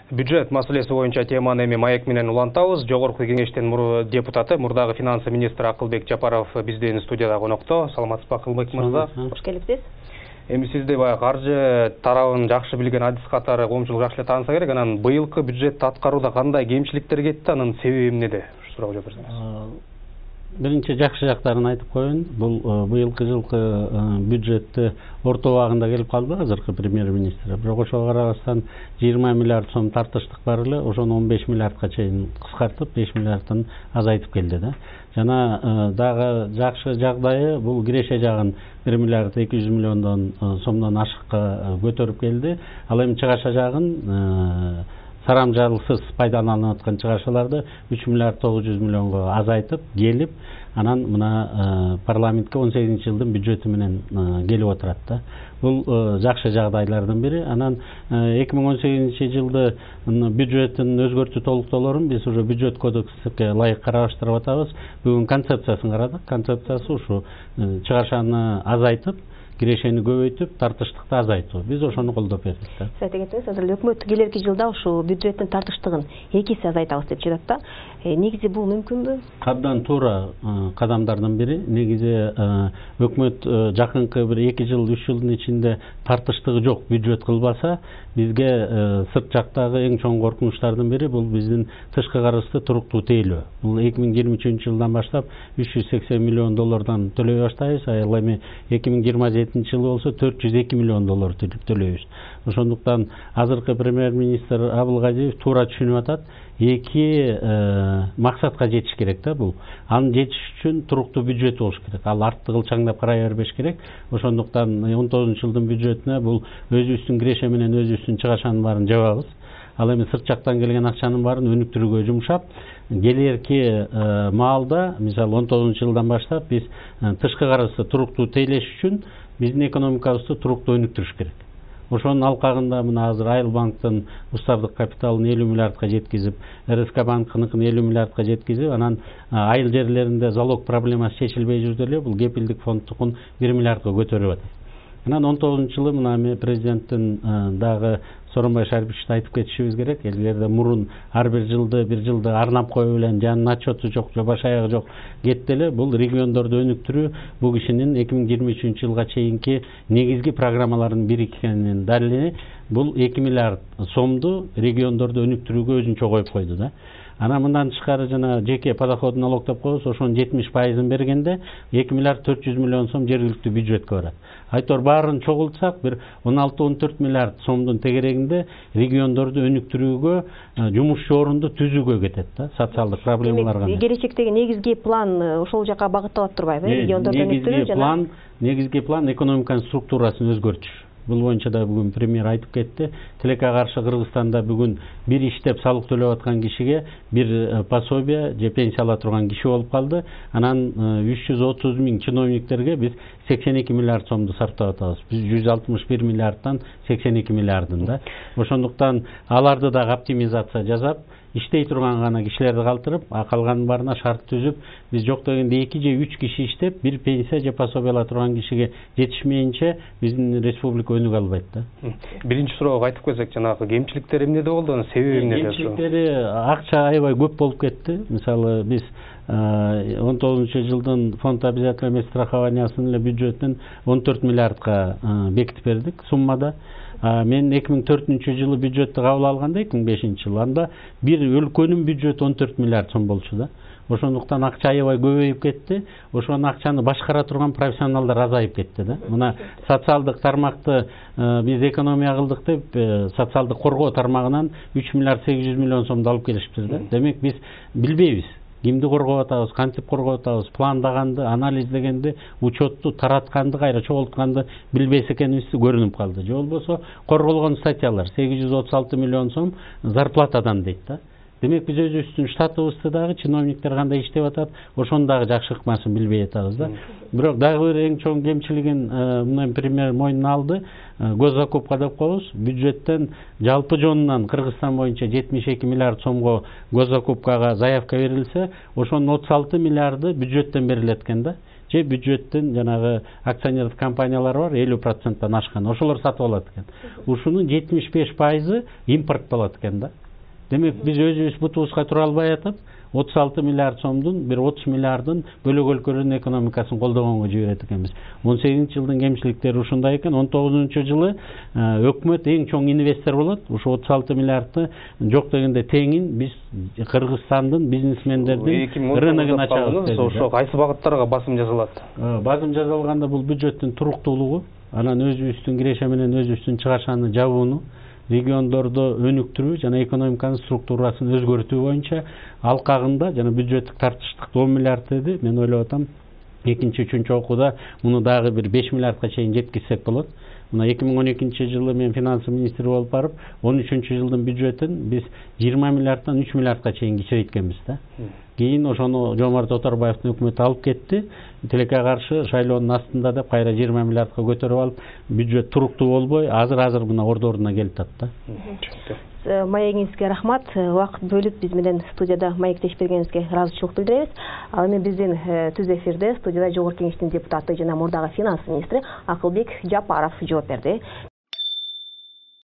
Бюджет маселеси боюнча теманы эми маек менен улантабыз. Жогорку кеңештин депутаты, мурдагы финанс министри Акылбек Жапаров биздин студияда конокто. Саламатсызбы Акылбек мырза? Кош келипсиз. Эми сизди баягы каржы тарабын жакшы билген адис катары коомчулук жакшы эле тааныса керек. Анан быйылкы бюджетти аткарууда кандай кемчиликтер кетти, анын себеби эмнеде? Ушу суроого жооп берсеңиз. Биринчи жакшы жактарын айтып коеюн. Бул быйылкы жылкы бюджетти орто убагында келип калды азыркы премьер-министр. Бирок ошого карабастан 20 миллиард сом тартыштык бар эле, ошону 15 миллиардка чейин кыскартып, 5 миллиардтан азайтып келди да. Жана дагы жакшы жагдайы бул киреше жагын 1 миллиард 200 миллиондон сомдон ашыкка көтөрүп келди. Ал эми чыгаша жагын сарамжалсыз пайдаланылып аткан чыгашаларды 3 миллиард 900 миллионго азайтып келип, анан мына парламентке 18 жылдын бюджети менен келип отурат да. Бул жакшы жагдайлардын бири. Анан 2018 жылды бюджеттин өзгөртүү толуктоолорун биз уже бюджет кодекске ылайык караштырып атабыз. Бүгүн концепциясын карадык. Концепциясы ушу чыгашаны азайтып, кирешени көбөйтүп, тартыштыкты азайтуу. Биз ошону колдоп бердик да. Сиз айтып кеттиңиз, азыр өкмөт келерки жылда ушу бюджеттин тартыштыгын 2 эсе азайтабыз деп жатат да. Негизи бул мүмкүнбү? Абдан туура кадамдардын бири. Негизи өкмөт жакынкы бир 2 жыл, 3 жылдын ичинде тартыштыгы жок бюджет кылбаса, бизге сырт жактагы эң чоң коркунучтардын бири бул биздин тышкы карызды туруктуу тейлөө. Бул 2023 жылдан баштап 380 миллион доллардан төлөй баштайбыз, ал эми 2027 жылы болсо 402 миллион доллар төлөйбүз. Ошондуктан азыркы премьер-министр Абылгазиев туура түшүнүп атат. 2 максатка жетиш керек да бул. Аны жетиш үчүн туруктуу бюджет болуш керек. Ал артты кылчаңдап карай бербеш керек. Ошондуктан 19 жылдын бюджетине бул өзүбүздүн киреше менен өзүбүздүн чыгашанын баарын жабабыз. Ал эми сырт жактан келген акчанын баарын өнүктүрүүгө жумшап, келерки маалда, мисалы 19 жылдан баштап биз тышкы карызды туруктуу тейлеш үчүн биздин экономикабызды туруктуу өнүктүрүш керек. Ошонун алкагында мына азыр Айыл банктын устардык капиталын 50 миллиардка жеткизип, РСК банкыныкын 50 миллиардка жеткизип, анан айыл жерлеринде залог проблемасы чечилбей жүрдү эле, бул кепилдик фондтукун 1 миллиардка көтөрүп атат. Анан 19 жылы мына президенттин дагы Сооронбай Шариповичте айтып кетишибиз керек. Элдерде мурун ар бир жылды арнап коюу менен жанын отчету жок, баш аягы жок кетти эле. Бул региондорду өнүктүрүү бул кишинин 2023 жылга чейинки негизги программаларынын бири экенин далили. Бул 2 миллиард сомду региондорду өнүктүрүүгө өзүнчө коюп койду да. Анан мындан тышкары жана жеке подоходный налог деп коебуз, ошонун 70%-ын бергенде 2 миллиард 400 миллион сом жергиликтүү бюджетке барат. Айтор баарын чогултсак, бир 16-14 миллиард сомдун тегерегинде региондорду өнүктүрүүгө, жумушчу орунду түзүүгө кетет да, социалдык проблемаларга. Келечектеги негизги план ошол жака багытталып турбайбы? Региондорду өнүктүрүү жана негизги план экономиканын структурасын өзгөртүш. Бул боюнча да бүгүн премьер айтып кетти. Тилекке каршы Кыргызстанда бүгүн бир иштеп салык төлөп аткан кишиге бир пособие же пенсия ала турган киши болуп калды. Анан 330 миң чиновниктерге биз 82 миллиард сомду сарптап атабыз. Биз 161 миллиардтан 82 миллиардын да. Ошондуктан аларды дагы оптимизация жасап, иштей турган гана кишилерди калтырып, калганын баарына шарт түзүп, биз жок дегенде 2 же 3 киши иштеп, бир пенсия же пособие ала турган кишиге жетишмейинче биздин республика өнүгө албайт да. Биринчи суроого айтып келсек, жанагы кемчиликтер эмнеде болду, анын себеби эмнеде? Кемчиликтери акча аябай көп болуп кетти. Мисалы биз 19 жылдын фонд обязательного страхованиясынын эле бюджетин 14 миллиардка бекитип бердик суммада. Мен 2004 жылы бюджетти кабыл алганда 2005 жылы анда бир өлкөнүн бюджети 14 миллиард сом болчу да. Ошондуктан акча аябай көбөйүп кетти. Ошол акчаны башкара турган профессионалдар азайып кетти да. Мына социалдык тармакты биз экономия кылдык деп, социалдык коргоо тармагынан 3 миллиард 800 миллион сомду алып келишипиз да. Демек биз билбейбиз. Кимди коргоп атабыз, кантип коргоп атабыз, пландаганды, анализдегенди, учетту таратканды, кайра чогултканды билбейс экенибиз көрүнүп калды. Же болбосо корголгон статьялар 836 миллион сом зарплатадан дейт да. Демек биз өзүбүздүн штатыбызды дагы чиновниктер кандай иштеп атат, ошону дагы жакшы ыкмасын билбей атабыз да. Бирок дагы бир эң чоң кемчилигин мына премьер мойнуна алды. Госзакупка деп коебуз. Бюджеттен жалпы жонунан Кыргызстан боюнча 72 миллиард сомго госзакупкага заявка берилсе, ошонун 36 миллиарды бюджеттен берилет экен да. же бюджеттин жанагы акционерлик компаниялар бар 50%-тан ашкан, ошолор сатып алат экен. Ушунун 75% импорт болот экен да. Демек биз өзүбүз бутубузга тура албай атып 36 миллиард сомдун бир 30 миллиардын бөлөк өлкөлөрдүн экономикасын колдогонго жиберет экенбиз. 18-жылдын кемчиликтери ушундай экен. 19-жылы өкмөт эң чоң инвестор болот. Ушу 36 миллиардты жок дегенде теңин биз Кыргызстандын бизнесмендердин рыногун ачабыз. Ошо кайсы багыттарга басым жасалат? Басым жасалганда бул бюджеттин туруктуулугу, анан өзүбүздүн киреше менен өзүбүздүн чыгашаны жабууну, региондордо өнүктүрүү жана экономиканын структурасын өзгөртүү боюнча алкагында жана бюджеттик тартыштык 10 миллиард деди. Мен ойлоп атам, экинчи, үчүнчү окууда муну дагы бир 5 миллиардка чейин жеткизсек болот. Мына 2012-жылы мен финансы министри болуп барып, 13-жылдын бюджетин биз 20 миллиарддан 3 миллиардка чейин кичирейткенбиз да. Кийин ошону Жомарт Оторбаевдин өкмөтү алып кетти. Тилекке каршы шайлоонун астында деп кайра 20 миллиардка көтөрүп алып, бюджет туруктуу болбой, азыр мына ордуна келип атты. Маегиңизге рахмат. Убакыт бөлүп биз менен студияда маектешип бергениңизге ыраазычылык билдиребиз. Ал эми биздин түз эфирде студияда Жогорку Кеңештин депутаты жана мурдагы финанс министри Акылбек Жапаров жооп берди.